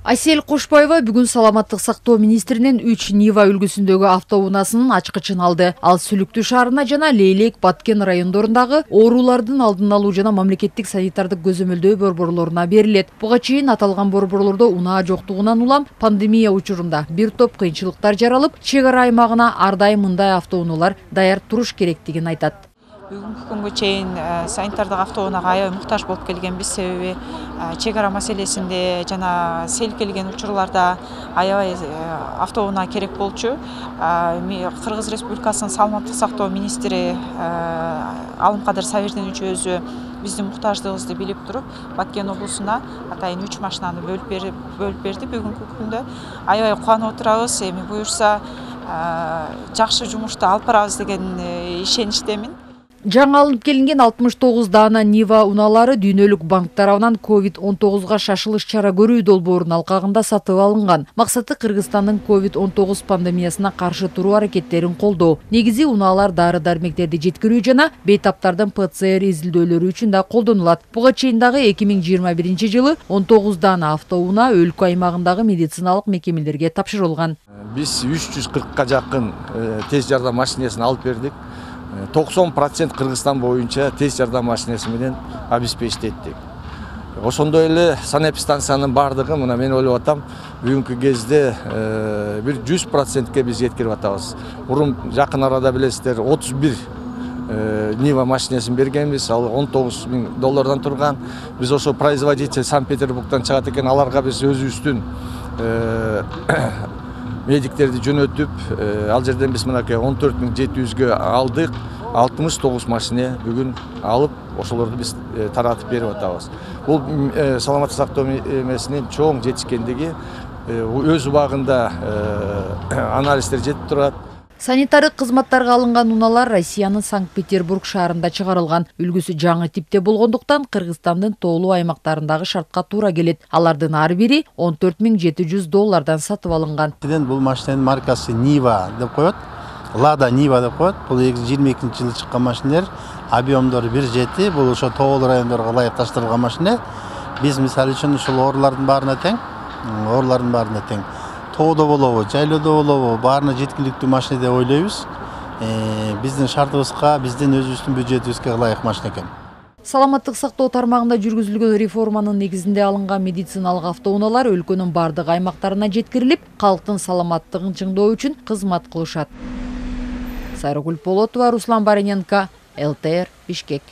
Айсел Кошбаева бүгүн саламаттык сактоо министринин 3 Нива үлгүсүндөгү автоунаасынын ачкычын алды. Ал Сүлүктүү шаарына жана Лейлек, Баткен райондорундагы оорулардын алдын алуу жана мамлекеттик санитардык көзөмөлдөө борборлоруна берилет. Буга чейин аталган борборлордо унаа жоктугунан улам пандемия учурунда бир топ кыйынчылыктар жаралып, чек ара аймагына ар дайым мындай автоунаалар даяр туруш керектигин айтат. Бүгүнкү күнгө чейин санитардык автоунаага аябай муктаж болуп келгенбиз, себеби чек ара маселесинде жана сел келген учурларда аябай автоунаа керек болчу. Кыргыз Республикасынын саламаттык сактоо министри Алымкадыр Сабирдинович өзү биздин муктаждыгыбызды билип туруп, Баткен облусуна атайын 3 машинаны бөлүп берди. Бүгүнкү күндө аябай кубанып отурабыз. Эми буюрса жакшы жумушту алып барабыз деген ишеничтемин. Жаңы алынып келинген 69 даана Нива унаалары дүйнөлүк банк тарабынан COVID-19 шашылыш чара көрүү долбоорунун алкагында сатып алынган. Максаты Кыргызстандын COVID-19 пандемиясына каршы туруу аракеттерин колдоо. Негизи унаалар дары-дармектерди жеткирүү жана бейтаптардын ПЦР изилдөөлөрү үчүн да колдонулат. Буга чейин дагы 2021 жылы 19 даана автоунаа өлкө аймагындагы медициналык мекемелерге тапшырылган. Биз 340 жакын тез жардам машинесин алып бердик. 90% Кыргызстан боюнча тез жардам машинеси менен обеспечиттик. Ошондой эле санэпидстанциянын бардыгы мына мен ойлоп атам, бүгүнкү кезде бир 100%ке биз жеткирип атабыз. Мурун жакын арада билесиздер 31 Нива машинесин бергенбиз, ал $19,000 турган. Биз ошо производитель Санкт-Петербургдан чыгат экен, аларга биз өзүбүздүн медиктерди жөнөтүп, ал жерден биз мынакей 14,700гө алдык. 69 машине бүгүн алып, ошолорду биз таратып берип атабыз. Бул саламаттык сактоо эмесинин чоң жетишкендиги, өз убагында анализдер жетип турат. Санитардык кызматтарга алынган унаалар Россиянын Санкт-Петербург шаарында чыгарылган. Үлгүсү жаңы типте болгондуктан Кыргызстандын тоолуу аймактарындагы шартка туура келет. Алардын ар бири $14,700 сатып алынган. Бул машинанын маркасы Нива деп коет. Лада Нива деп коет. Бул 2022 жылы чыккан машинелер, объемдору 1,7. Бул ошо тоолуу райондорго ылайык таштырылган машина. Биз мисалы үчүн ушул оорулардын баарына тең. Тоодо болобу, жайлоодо болобу, баарына жеткиликтүү машина деп ойлойбуз. Биздин шартыбызга, биздин өзүбүздүн бюджетибизге ылайык машина экен. Саламаттык сактоо тармагында жүргүзүлгөн реформанын негизинде алынган медициналык автоунаалар өлкөнүн бардык аймактарына жеткирилип, калктын саламаттыгын чыңдоо үчүн кызмат кылышат. Сайрагүл Полотова, Руслан Бариненко, ЛТР, Бишкек.